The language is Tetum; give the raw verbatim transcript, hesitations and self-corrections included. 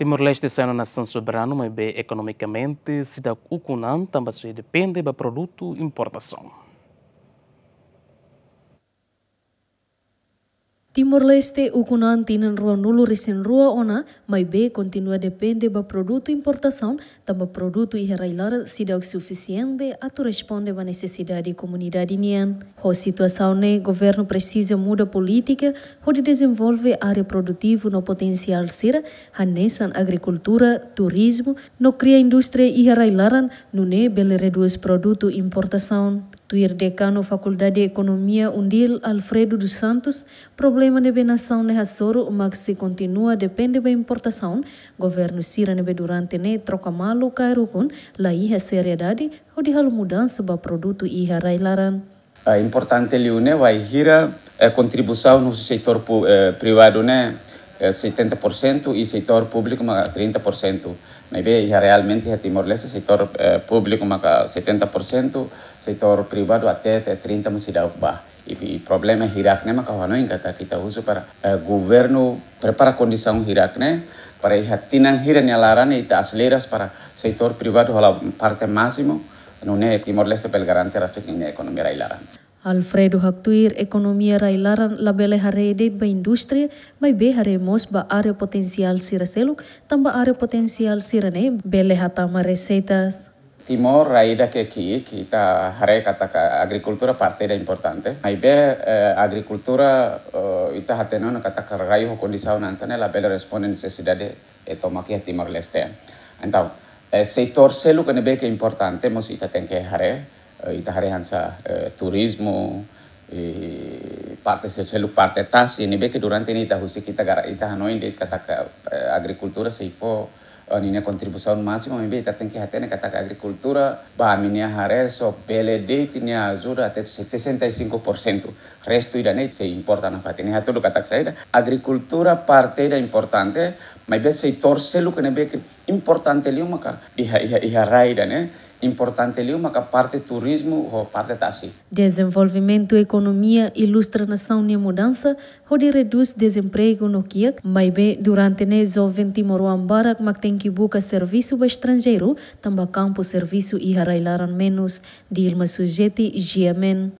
Timor-Leste sai ona nasaun soberanu, maibé ekonomikamente seidauk ukun an tanba sei depende ba produtu importasaun. Timor-Leste ukun an tinan rua-nulu resin rua ona, maibé kontinua depende ba produtu importasaun, tanba produtu iha rai-laran seidauk sufisiente atu responde ba nesesidade komunidade nian. Ho situasaun ne'e, governu presiza muda polítika hodi dezenvolve área produtivu no potensiál sira, hanesan agrikultura, turizmu, no kria indústria iha rai-laran, nune'e bele redús produtu importasaun. Tuir Dekanu Fakuldade Ekonomia UNDIL, Alfredo dos Santos, problema ne'ebé nasaun ne'e hasoru mak se kontinua depende ba importasaun, governu sira ne'ebé durante ne'e troka malu kaer ukun, la iha seriedade hodi halo mudansa ba produtu iha rai-laran. Ah, importante liu ne'e bainhira, eh, kontribuisaun husi setór pu-, eh, privadu ne'e, eh, setenta por cento i setór públiku maka trinta por cento. Maibé iha realmente iha Timor-Leste setór, eh, públiku maka setenta por cento, setór privadu até, até trinta mós seidauk ba. I, i problema hirak ne'e maka hanoin katak ita husu para, eh, governu prepara kondisaun hirak ne'e para iha tinan hira nia laran ita aselera para setór privadu hola parte másimu, nune'e Timor-Leste bele garante rasik ninia ekonomia rai-laran. Alfredo haktuir ekonomia rai-laran labele haree de'it ba indústria, maibé haree mós ba área potensiál sira seluk, tanba área potensiál sira-ne'e bele hatama reseitas. Timor rai ida ke ki'ik, ita haree katak agrikultura parte ida importante. Maibé, eh, agrikultura, eh, ita hatene ona katak rai ho kondisaun ida-ne'e labele responde nesesidade, eh, tomak iha Timor-Leste. Entaun, eh, setór seluk ne'ebé ke importante, mós ita tenke haree, eh, ita haree hanesan, eh, turizmu, i parte se-, seluk parte tasi, ne'ebé ke durante ne'e ita husik ita gara-, ita hanoin de'it katak, eh, agrikultura sei fó, eh, ninia kontribuisaun másimu, maibé ita tenke hatene katak agrikultura, ba ami-nia haree só bele de'it nia ajuda até se-, sessenta e cinco por cento. Restu ida-ne'e sei importa nafatin. Ne'e hatudu katak saida? Agrikultura parte ida importante, maibé setór seluk ne'ebé ke importante liu maka iha, iha, iha rai ida-ne'e, importante liu maka parte turizmu ho parte tasi. Dezenvolvimentu ekonomia ilustra nasaun nia mudansa, hodi redús dezempregu no kiak, maibé durante ne'e joven timoroan barak mak tenke buka servisu ba estranjeiru, tanba kampu servisu iha rai-laran menus. Dilma Sujeti, G M N.